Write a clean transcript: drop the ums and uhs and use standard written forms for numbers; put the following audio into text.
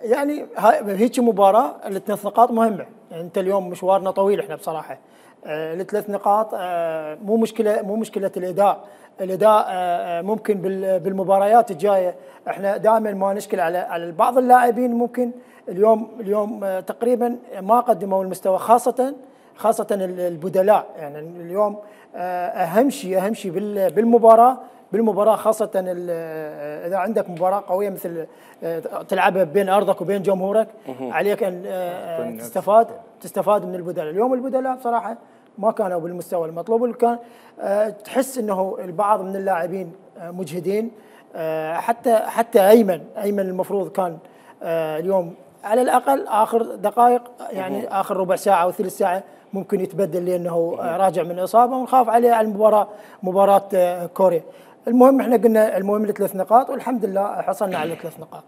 يعني هيك مباراه الثلاث نقاط مهمه، يعني انت اليوم مشوارنا طويل احنا بصراحه. الثلاث نقاط مو مشكله الاداء. الاداء ممكن بالمباريات الجايه احنا دائما ما نشكل على بعض اللاعبين، ممكن اليوم تقريبا ما قدموا المستوى، خاصه البدلاء. يعني اليوم اهم شيء بالمباراه خاصه اذا عندك مباراه قويه مثل تلعبها بين ارضك وبين جمهورك، عليك ان تستفاد من البدلاء. اليوم البدلاء بصراحه ما كانوا بالمستوى المطلوب، كان تحس انه البعض من اللاعبين مجهدين. حتى ايمن المفروض كان اليوم على الاقل اخر دقائق، يعني اخر ربع ساعه او ثلث ساعه ممكن يتبدل لانه راجع من اصابه، ونخاف عليه على مباراه كوريا. المهم احنا قلنا المهم الثلاث نقاط، والحمد لله حصلنا على الثلاث نقاط.